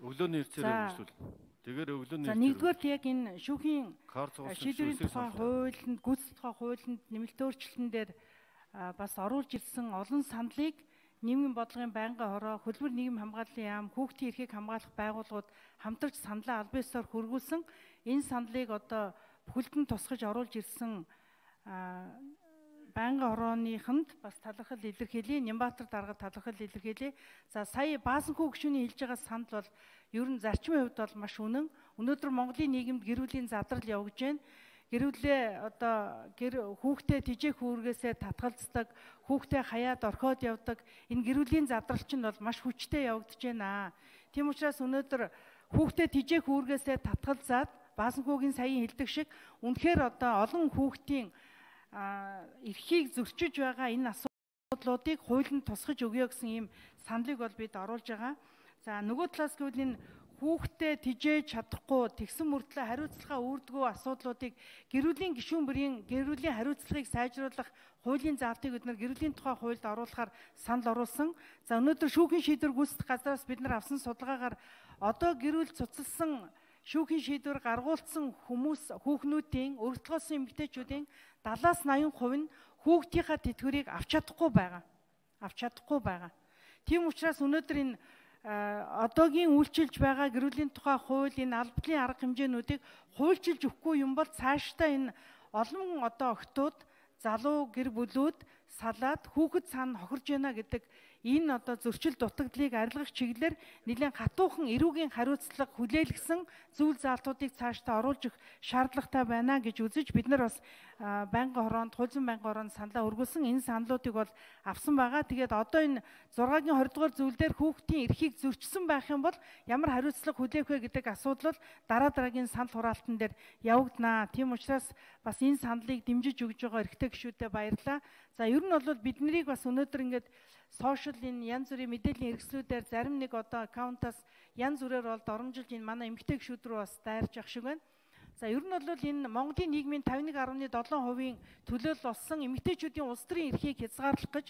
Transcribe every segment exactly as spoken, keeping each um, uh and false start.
Өглөөний эрсээр үргэлжлүүл. Тэгэхээр өглөөний За нэгдүгээр яг энэ шүүхийн шийдвэрийн тухай хуулинд, гүйцэтгэх тухай хуулинд нэмэлт өөрчлөлтөн дээр бас оруулж ирсэн олон саналыг нийгмийн бодлогын байнгын хороо, хөдөлмөр нийгэм хамгааллын яам, хүүхдийн эрхийг хамгаалах байгууллагууд хамтарч саналаа албан ёсоор хөргүүлсэн. Энэ саналыг одоо бүхэлдэн тусгаж оруулж ирсэн байнгын хорооныханд бас талархал илэрхийлье. Нямбатар дарга талархал илэрхийлье. За сая Баасанхүү гишүүний хэлж байгаа санал бол ер нь зарчмын хувьд бол маш үнэн. Өнөөдөр Монголын нийгэмд гэр бүлийн задрал явж байна. Гэр бүлээ одоо гэр хүүхдээ тижээх үүргээсээ татгалздаг, хүүхдээ хаяад орхиод явдаг. Энэ гэр бүлийн задрал чинь бол маш хүчтэй явагдаж байна. Тийм учраас өнөөдөр хүүхдээ тижээх үүргээсээ татгалзаад Баасанхүүгийн саяын хэлдэг шиг үнэхээр одоо олон хүүхдийн эрхийг зөрчиж байгаа энэ асуудлуудыг хуулинд тусгаж өгье гэсэн ийм саналыг бол бид оруулж байгаа. За нөгөө талаас гэвэл энэ хүүхдээ тижээж чадахгүй тэгсэн мөртлөө хариуцлага үүрдэггүй асуудлуудыг гэр бүлийн гишүүн бүрийн гэр бүлийн хариуцлагыг сайжруулах хуулийн заалтыг бид нар гэр бүлийн тухай хуульд оруулахаар санал оруулсан. За өнөөдөр шүүхийн шийдвэр гүйцэтгэх газраас бид нар авсан судалгаагаар одоо гэр бүл цуцлсан шүүхийн шийдвэр гаргуулсан хүмүүс хүүхнүүдийн өргөдөлгөөсөн эмэгтэйчүүдийн дадлаас наян хувь нь хүүхдийнхаа тэтгэврийг авч чадахгүй байгаа. Авч чадахгүй байгаа. Тийм учраас өнөөдөр энэ одоогийн үйлчилж байгаа гэр бүлийн тухай хууль, энэ албадлын арга хэмжээнүүдийг хуульчилж өгөхгүй юм бол цаашдаа энэ олон одоо охтууд, залуу гэр бүлүүд салаад хүүхэд цаана хохирж байна гэдэг энэ одоо зөрчил дутагдлыг арилгах чиглэлээр нэлээд хатуухан эрүүгийн хариуцлага хүлээлгсэн зүйл заалтуудыг цаашдаа оруулж өгөх шаардлагатай байна гэж үзэж бид нар бас байнгын хороонд, хуулийн байнгын хороонд саналаа өргүүлсэн. Энэ саналуудыг бол авсан байгаа. Тэгээд одоо энэ зургагийн хоёр дугаар зүйл дээр хүүхдийн эрхийг зөрчсөн байх юм бол ямар хариуцлага хүлээх вэ гэдэг асуудал бол дараа дараагийн санал хураалтан дээр явагдана. Тийм учраас бас энэ саналыг дэмжиж өгж байгаа эрхтэй гишүүдэд баярлалаа. За ер нь бол бид нарыг бас өнөөдөр ингээд сошиал энэ янз бүрийн мэдээллийн хэрэгслүүдээр зарим нэг одоо аккаунтаас янз бүрээр бол доромжилж энэ манай эмэгтэй гишүүд рүү бас дайрж явах шиг байна. За ер нь бол энэ Монголын нийгмийн тавь нэг гаруй долоо хувийн төлөөлөл болсон эмэгтэйчүүдийн улс төрийн эрхийг хязгаарлах гэж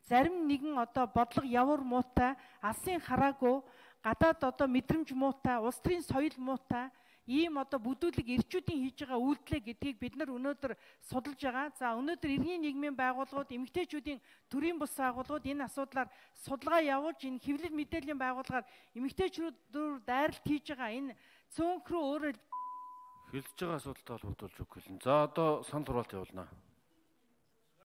зарим нэгэн одоо бодлого явар муутай, алсын хараагүй, гадаад одоо мэдрэмж муутай, улс төрийн соёл муутай ийм одоо бүдүүлэг эрчүүдийн хийж байгаа үйлдэлээ гэдгийг бид нар өнөөдөр судалж байгаа. За өнөөдөр иргэний нийгмийн байгууллагууд, эмэгтэйчүүдийн төрийн бус байгууллагууд энэ асуудлаар судалгаа явуулж энэ хэвлэл мэдээллийн байгууллагаар эмэгтэйчүүдээр дайралт хийж байгаа энэ цөөнх рүү өөрөө хэлж байгаа асуудалтай холбогдуулж өгөх гэлэн. За одоо санал хураалт явуулнаа.